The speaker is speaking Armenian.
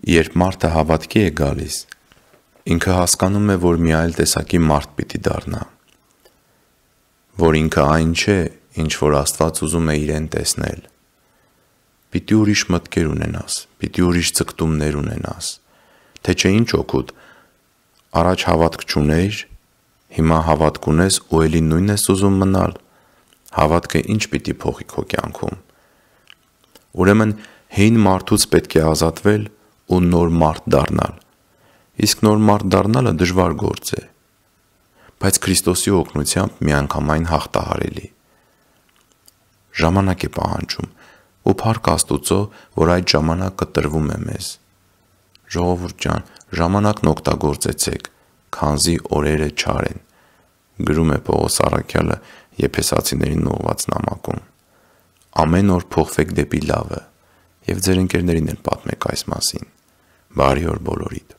Երբ մարդը հավատքի է գալիս, ինքը հասկանում է, որ մի այլ տեսակի մարդ պիտի դառնա, որ ինքը այն չէ, ինչ որ Աստված ուզում է իրեն տեսնել։ Պիտի ուրիշ մտքեր ունենաս, պիտի ուրիշ ձգտումներ ունենաս, թե չէ ինչ օգուտ, առաջ հավատք չունեիր, հիմա հավատք ունես ու էլի նույնն ես ուզում մնալ, հավատքը ինչ պիտի փոխի քո կյանքում։ Ուրեմն հին մարդուց պետք է ազատվել ու նոր մարդ դառնալ, իսկ նոր մարդ դառնալը դժվար գործ է, բայց Քրիստոսի օգնությամբ միանգամայն հաղթահարելի։ Ժամանակ է պահանջում ու փառք Աստուծո, որ այդ ժամանակը տրվում է մեզ։ Ժողովուրդ ջան, ժամանակն օգտագործեցեք, քանզի օրերը չար են, գրում է Պողոս առաքյալը Եփեսացիներին ուղղված նամակում։ Ամեն օր փոխվեք դեպի լավը և ձեր ընկերներին էլ պատմեք այս մասին։ Բարի օր բոլորիդ։